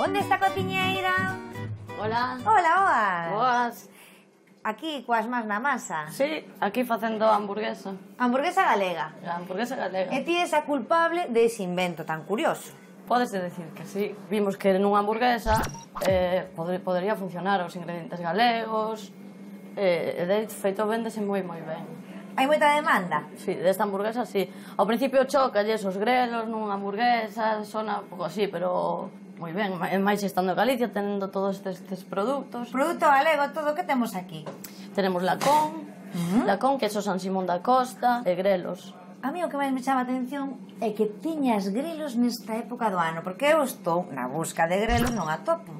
Onde está a cociñeira? Hola. Hola, Oas. Boas. Aquí, coas más na masa. Sí, aquí facendo hamburguesa. Hamburguesa galega. A hamburguesa galega. E ti és a culpable dese invento tan curioso. Pódese decir que sí. Vimos que nunha hamburguesa podería funcionar os ingredientes galegos. De feito, véndese moi ben. Hai moita demanda? Sí, desta hamburguesa sí. Ao principio chocalles os grelos nunha hamburguesa, sona un pouco así, pero moi ben. Mais estando en Galicia, tendo todos estes produtos. Produto galego, todo o que temos aquí. Tenemos lacón, queso San Simón da Costa e grelos. A mí o que máis me chama a atención é que tiñas grelos nesta época do ano, porque eu estou na busca de grelos, non a topo.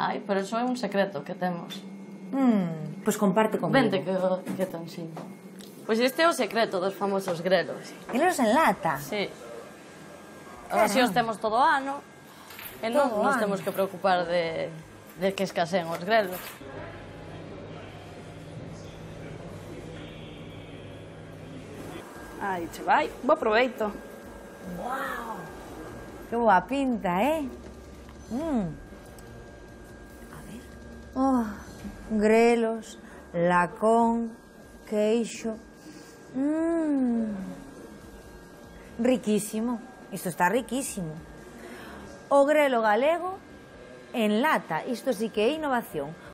Ai, pero iso é un secreto que temos. Pois comparte comigo. Vente que te ensino. Pois este é o secreto dos famosos grelos. Grelos en lata? Sí. Así os temos todo o ano e non nos temos que preocupar de que escaseen os grelos. Aí che vai, bo proveito. Wow, que boa pinta, A ver. Oh, grelos, lacón, queixo. Riquísimo. Isto está riquísimo. O grelo galego en lata. Isto sí que é innovación.